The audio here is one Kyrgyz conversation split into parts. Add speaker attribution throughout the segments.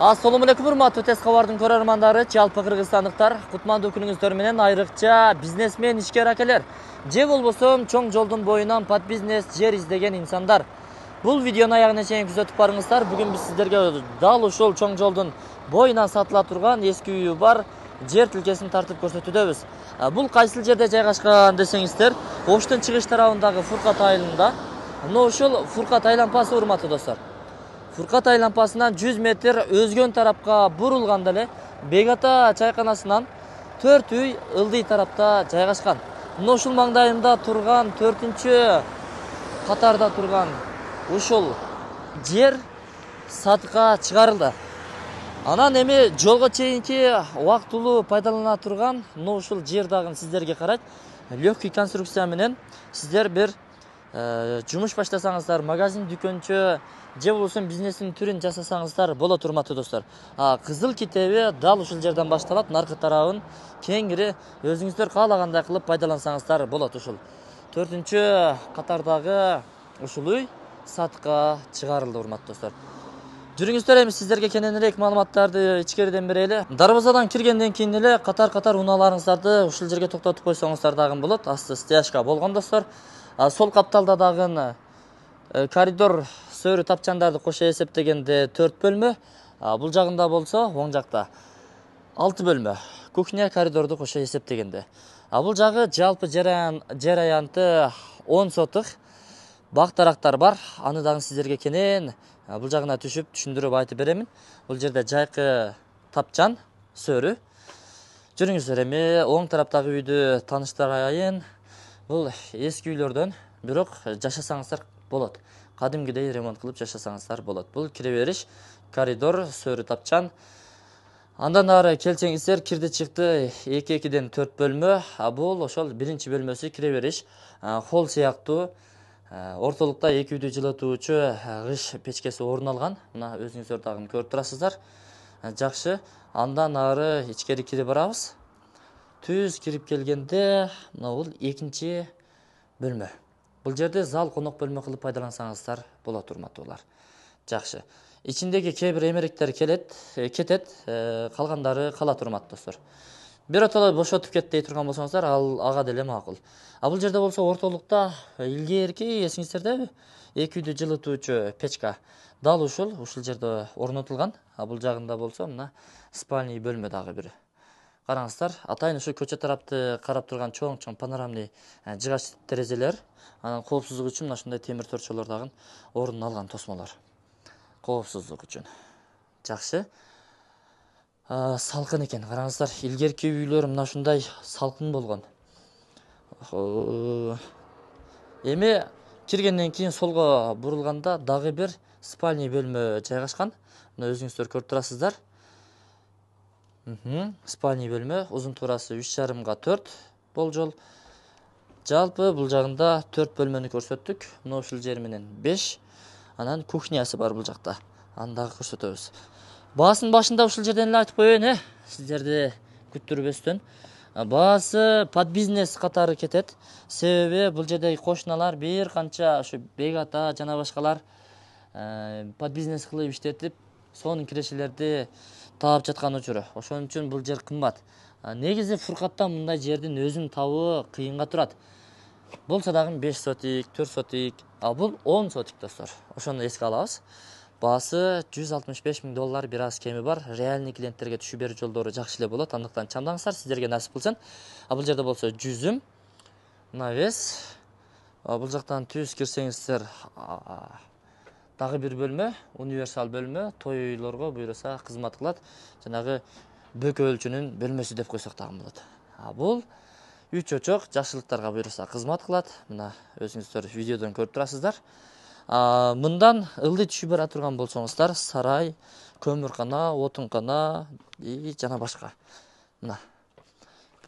Speaker 1: Assalamu alaikum урматтуу Тез кабардын көрөрмандары, жалпы кыргызстандыктар, кутмандуу күнүңүздөр менен айрыкча бизнесмен ишкер акелер же болбосо чоң жолдун боюнан пад бизнес жер издеген инсандар. Бул видеону аягына чейин күзөтүп барыңыздар. Бүгүн биз сиздерге дал ушул чоң жолдун боюнан сатыла турган эски үйү бар жер тилкесин тартып көрсөтүүдөбүз. Бул кайсыл жерде жайгашкан десеңиздер, Оштун чыгыш тарабындагы Фуркат айылында. Мына ушул Фуркат айланпасы урматтуу достор. Фуркат айланпасынан 100 метр өзгөн тарапка бурулганда эле Бегата чайканасынан 4 үй ылдый тарапта жайгашкан. Мына ушул маңдайында турган 4-чү катарда турган ушул жер сатыкка чыгарылды. Анан эми жолго чейинки убактылуу пайдалана турган мына ушул жер дагы сиздерге карайт. Легкий конструкция менен сиздер бир жумуш баштасаңыздар, магазин, дүкөнчө же болбосо бизнестин түрүн жасасаңыздар болот урматтуу достор. Кызыл китеби дал ушул жерден башталат. Наркы тарабын кеңири өзүңүздөр каалагандай кылып пайдалансаңыздар болот. Ушул 4-чү катардагы ушул үй сатыкка чыгарылды урматтуу достор. Жүрүңүздөр, эми сиздерге кененирээк маалыматтарды ичкериден берели. Дарбазадан киргенден кийин эле катар-катар унааларыңыздарды ушул жерге токтотуп койсоңуздар дагы болот. Асты стяжка болгон достор. Сол капталда дагы коридор сөрү тапчандарды кошо эсептегенде 4 бөлмө. Бул жагында болсо оң жакта 6 бөлмө. Кухня, коридорду кошо эсептегенде. Бул жагы жалпы жер аянты 10 сотук. Бак-дарактар бар. Аны дагы сиздерге кенен бул жагына түшүп түшүндүрүп айтып беремин. Бул жерде жайкы тапчан сөрү. Жүрүңүздөр, эми оң тараптагы үйдү тааныштырайын. Бул эски үйлөрдөн, бирок жашасаңыздар болот. Кадимгидей ремонт кылып жашасаңыздар болот. Бул кире бериш, коридор, сөрү тапчан. Андан ары келсеңиздер, кирди чыкты 2-2ден 4 бөлмө. Бул ошол биринчи бөлмөсү, кире бериш, холл сыяктуу. Ортолукта 2 үйдү жылытуучу кыш печкеси орун алган. Мына өзүңүздөр дагы көрүп турасыздар. Жакшы. Андан ары ичкери кирип барабыз. Түз кирип келгенде, мына бул 2-чи бөлмө. Бул жерде зал, конок бөлмө кылып пайдалансаңыздар болот урматтуулар. Жакшы. Ичиндеги кээ бир эмеректер кетет, калгандары калат урматтуу достор. Биротоло бошотуп кет дей турган болсоңуздар, ага деле макул. Бул жерде болсо ортолукта илгерки эсиңиздерде 2 үйдү жылытуучу печка дал ушул жерде орнотулган. Бул жагында болсо мына спальный бөлмө дагы бир. Караңыздар, атайын ушу көчө тарапты карап турган чоң панорамный жыгач терезелер. Анан коопсуздук үчүн мына ушундай темир торчолор дагы орун алган, тосмолор. Коопсуздук үчүн. Жакшы. Салкын экен. Караңыздар, илгерки үйлөр мына ушундай салкын болгон. Эми киргенден кийин солго бурулганда дагы бир спальный бөлмө жайгашкан. Мына өзүңүздөр көрүп турасыздар. Спальный бөлмө, узун туурасы 3,5 га 4 болжол. Жалпы бул жагында 4 бөлмөнү көрсөттүк. Мына ушул жер менен 5. Анан кухнясы бар бул жакта. Аны дагы көрсөтөбүз. Баасын башында ушул жерден эле айтып коеюн, сиздерди күттүрбөстөн. Баасы пад бизнес катары кетет. Себеби бул жердеги кошуналар бир канча ушу Бегата жана башкалар пад бизнес кылып иштетип, сонун кирешелерди таап жаткан учуру. Ошон үчүн бул жер кымбат. Негизи Фуркаттан мындай жердин өзүн табуу кыйынга турат. Болсо дагы 5 сотик, 4 сотик, бул 10 сотик достор. Ошону эске алабыз. Баасы $165 000 бир аз кеми бар. Реальный клиенттерге түшүп берүү жолдору жакшы эле болот. Андыктан чамдаңыздар, сиздерге насип кылсын. Бул жерде болсо жүзүм, навес. Бул жактан түз кирсеңиздер дагы бир бөлмө, универсал бөлмө, тойлорго буйруса кызмат кылат. Жанагы бөкө өлчүнүн бөлмөсү деп койсок дагы болот. Бул 3 очок жакшылыктарга буйруса кызмат кылат. Мына өзүңүздөр видеодон көрүп турасыздар. Мындан ылдый түшүп бара турган болсоңуздар, сарай, көмүркана, отункана жана башка. Мына.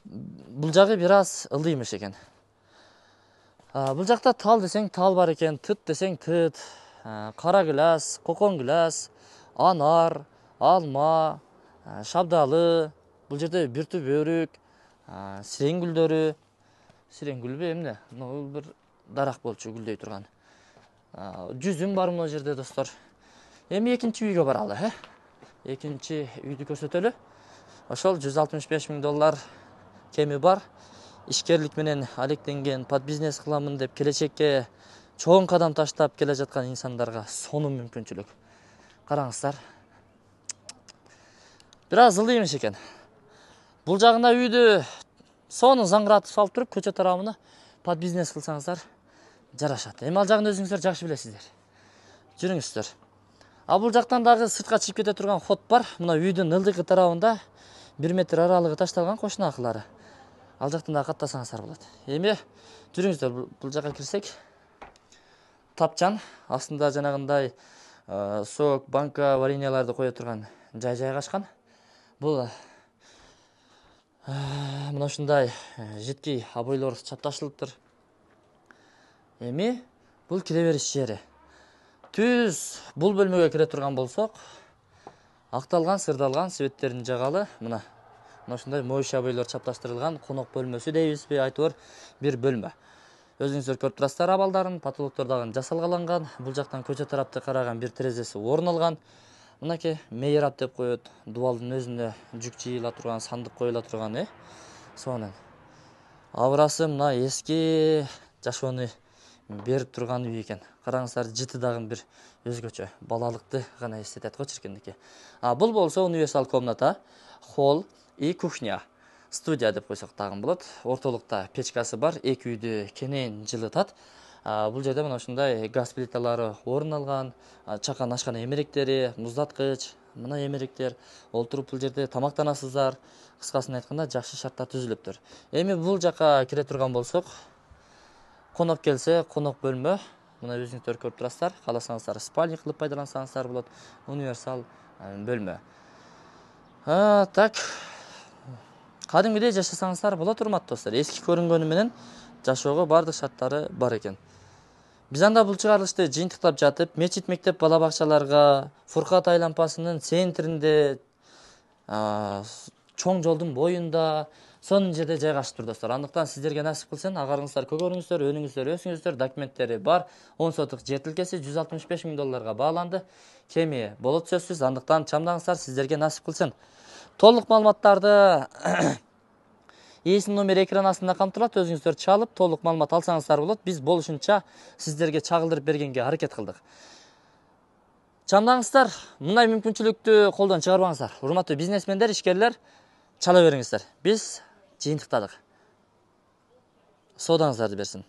Speaker 1: Бул жагы бир аз ылдыймыш экен. Бул жакта тал десең тал бар экен, тыт десең тыт, кара гүлас, кокон гүлас, анар, алма, шабдалы. Бул жерде бир түп өрүк, сирең гүлдөрү. Сирең гүлбү эмне? Бул бир дарак болчу гүлдөй турган. Жүзүм бар мына жерде достор. Эми экинчи үйгө баралы, экинчи үйдү көрсөтөлү. Ошол $165.000 кеми бар. Ишкерлик менен алектенген, под бизнес кыламын деп келечекке чоң кадам таштап келе жаткан инсандарга сонун мүмкүнчүлүк. Караңыздар. Бир аз ылдый эмес экен. Бул жагына үйдү сонун заңгыратып салып туруп, көчө тарабына под бизнес кылсаңыздар жарашат. Эми ал жагын өзүңүздөр жакшы билесиздер. Жүрүңүздөр. А бул жактан дагы сыртка чыгып кете турган ход бар. Мына үйдүн ылдыйкы тарабында 1 метр аралыгы ташталган кошуна акылары. Ал жактан дагы каттасаңыздар болот. Эми жүрүңүздөр, бул жакка кирсек. Тапчан, астында жанагындай сок, банка, вареньяларды кое турган жай жайгашкан. Бул мына ушундай жидкей обойлор чапташылыптыр. Эми бул кире бериш жери. Түз бул бөлмөгө кире турган болсок, акталган, сырдалган светтерин жагалы. Мына ушундай моющий обойлор чапташтырылган конок бөлмөсү дейбизби, айтор бир бөлмө. Өзүңүздөр көрүп турасыздар абалдарын, потолоктор дагы жасалгаланган. Бул жактан көчө тарапты караган бир терезеси орун алган. Мынакей мейрап деп коет. Дубалдын өзүндө жүк жыйыла турган, сандык коюла турган, сонун. Абрасы мына эски жашоону берип турган үй экен. Караңыздар, жыты дагы бир өзгөчө, балалыкты гана эстетет го чиркиндики. Бул болсо универсал комната, холл и кухня. Студия деп койсок дагы болот. Ортолукта печкасы бар, эки үйдү кенен жылытат. Бул жерде мына ушундай газ плиталары орун алган, чакан ашкана эмеректери, муздаткыч, мына эмеректер. Олтуруп бул жерде тамактанасыздар. Кыскасын айтканда жакшы шарттар түзүлүптүр. Эми бул жака кире турган болсок, конок келсе, конок бөлмө. Мына өзүңүздөр көрүп турасыздар. Кааласаңыздар спальня кылып пайдалансаңыздар болот. Универсал бөлмө. Так. Кадимгидей жашасаңыздар болот, урматтуу достор. Эски көрүнгөнү менен жашоого бардык шарттары бар экен. Биз анда бул чыгарылышты жыйынтыктап жатып, мечит, мектеп, бала бакчаларга, Фуркат айланпасынын центринде, чоң жолдун боюнда, сонун жерде жайгашыптыр достор. Андыктан сиздерге насип кылсын, агарыңыздар көгөрүңүздөр, өнүңүздөр, өсүңүздөр, документтери бар. 10 сотук жер тилкеси $165.000 бааланды. Кеми болот сөзсүз, андыктан чамдаңыздар, сиздерге насип кылсын. Толук маалыматтарды ээсинин номери экран астында камтылат. Өзүңүздөр чалып, толук маалымат алсаңыздар болот. Биз болушунча сиздерге чагылдырып бергенге аракет кылдык. Чамдаңыздар, мындай мүмкүнчүлүктү колдон чыгарбаңыздар. Урматтуу бизнесмендер, ишкерлер, чала бериңиздер. Биз жыйынтыктадык. Соодаңыздарды берсин.